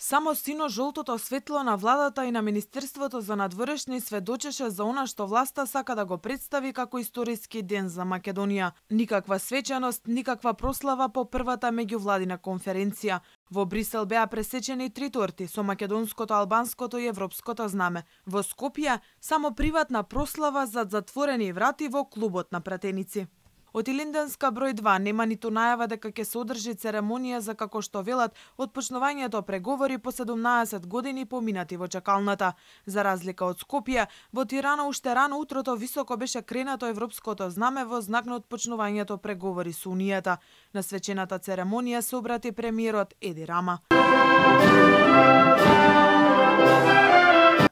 Само сино-жолтото светло на владата и на Министерството за надворешни сведочеше за она што власта сака да го представи како историски ден за Македонија. Никаква свечаност, никаква прослава по првата меѓувладина конференција. Во Брисел беа пресечени 3 торти со македонското, албанското и европското знаме. Во Скопје само приватна прослава зад затворени врати во клубот на пратеници. Од Илинденска број 2 нема ниту најава дека ќе се одржи церемонија за, како што велат, отпочнувањето преговори по 17 години поминати во чакалната. За разлика од Скопје, во Тирана уште рано утрото високо беше кренато европското знаме во знак на отпочнувањето преговори со Унијата. На свечената церемонија се обрати премиерот Еди Рама.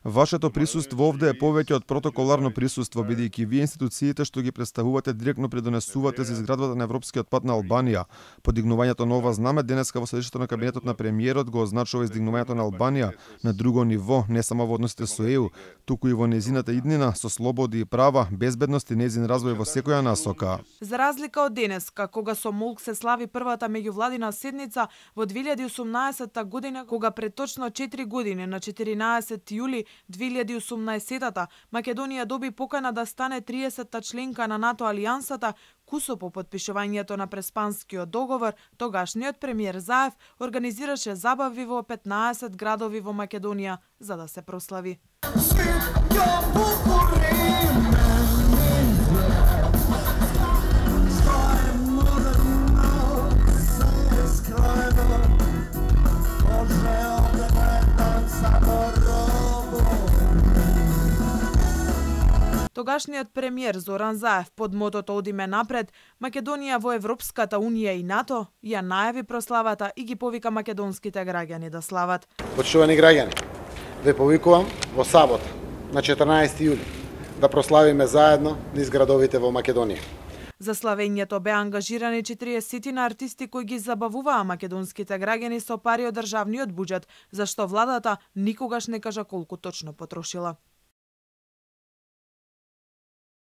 Вашето присуство овде е повеќе од протоколарно присуство, бидејќи вие институциите што ги представувате директно придонесувате за изградбата на европскиот пат на Албанија. Подигнувањето на ова знаме денеска во седиште на кабинетот на премиерот го означува издигнувањето на Албанија на друго ниво, не само во односите со ЕУ, туку и во незината иднина со слободи и права, безбедност и незин развој во секоја насока. За разлика од денеска, кога со молк се слави првата меѓувладина седница во 2018 година, кога пред точно 4 години на 14 јули 2018-та Македонија доби покана да стане 30-та членка на НАТО алијансата, кусо по подпишувањето на Преспанскиот договор, тогашниот премиер Заев организираше забави во 15 градови во Македонија за да се прослави. Тогашниот премиер Зоран Заев под мотото "Одиме напред", Македонија во Европската унија и НАТО ја најави прославата и ги повика македонските граѓани да слават. Почитувани граѓани, ве повикувам во сабота на 14 јули да прославиме заедно низ градовите во Македонија. За славењето беа ангажирани 40 артисти кои ги забавуваа македонските граѓани со пари од државниот буџет, зашто владата никогаш не кажа колку точно потрошила.